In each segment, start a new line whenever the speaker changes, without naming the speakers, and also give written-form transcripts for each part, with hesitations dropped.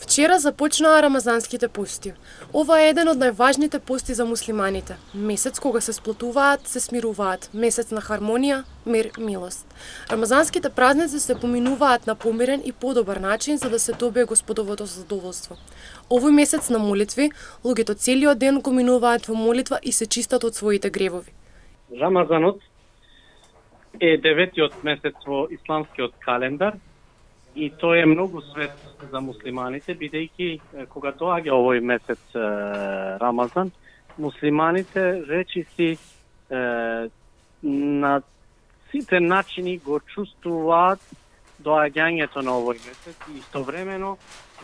Вчера започнаа рамазанските пости. Ова е еден од најважните пости за муслиманите. Месец кога се сплотуваат, се смируваат. Месец на хармонија, мир, милост. Рамазанските празници се поминуваат на помирен и подобар начин за да се добие Господовото задоволство. Овој месец на молитви, луѓето целиот ден го минуваат во молитва и се чистат од своите гревови.
Рамазанот е 9-тиот месец во исламскиот календар и тој е многу свет за муслиманите, бидејќи кога доаѓа овој месец Рамазан, муслиманите речиси на сите начини го чувствуваат доаѓањето на овој месец и истовремено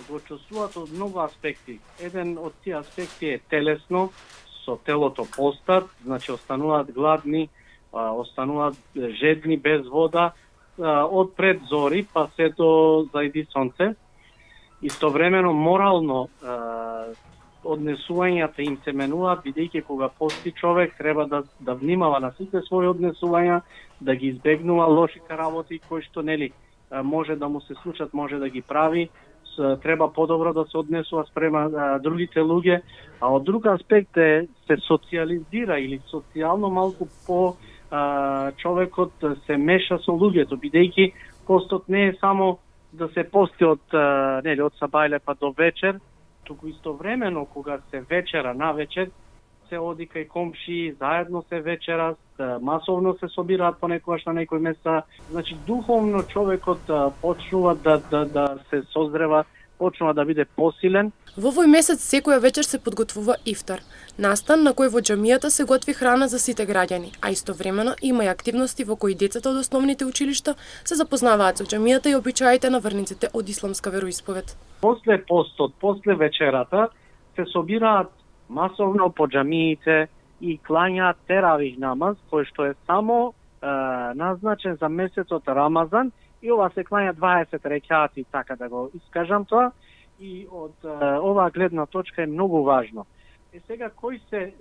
го чувствуваат од многу аспекти. Еден од тие аспекти е телесно, со телото постат, значи остануваат гладни, остануваат жедни без вода, од пред зори па се до зајди сонце. Истовремено морално однесувањата им се менуваат, бидејќи кога пости човек треба да внимава на сите своји однесувања, да ги избегнува лошите работи кои што може да му се случат, може да ги прави, треба подобро да се однесува спрема другите луѓе, а од друг аспект се социализира или социјално малку по човекот се меша со луѓето, бидејќи постот не е само да се пости од сабајле па до вечер, туку истовремено кога се вечера на вечер, се оди кај комши, заедно се вечера, масовно се собираат понекогаш на некој места. Значи духовно човекот почнува да се созрева, почнува да биде посилен.
Во овој месец секоја вечер се подготвува ифтар, настан на кој во џамијата се готви храна за сите граѓани, а истовремено има и активности во кои децата од основните училишта се запознаваат со џамијата и обичаите на верниците од исламска вероисповед.
После постот, после вечерата се собираат масовно по џамиите и клањаат теравих намаз, кој што е само назначен за месецот Рамазан, и ова се клања 20 рекати, така да го искажам тоа, и од оваа гледна точка е многу важно. Сега, кои се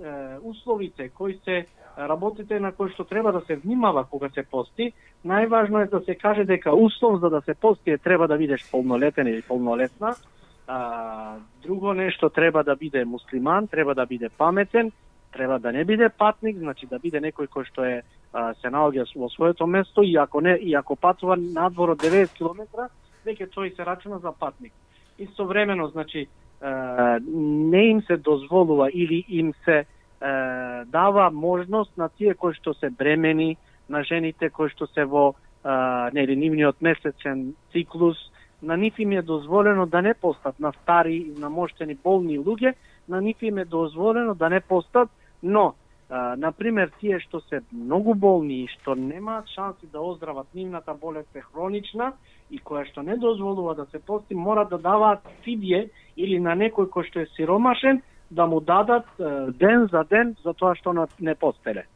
условите, кои се работите на кои што треба да се внимава кога се пости? Најважно е да се каже дека услов за да се пости треба да бидеш полнолетен или полнолетна. Друго нешто, треба да биде муслиман, треба да биде паметен, треба да не биде патник, значи да биде некој кој што се наоѓа во своето место и ако патува надвор од 90 км, веќе тој се рачуна за патник. Истовремено, значи, не им се дозволува или им се дава можност на тие кои што се бремени, на жените кои што се во нивниот месечен циклус, на нив им е дозволено да не постат, на стари, намоштени, болни луѓе, на нив им е дозволено да не постат, но, например, тие што се многу болни и што немаат шанси да оздрават, нивната болест е хронична и која што не дозволува да се пости, мора да даваат фидие или на некој кој што е сиромашен, да му дадат ден за ден за тоа што не постеле.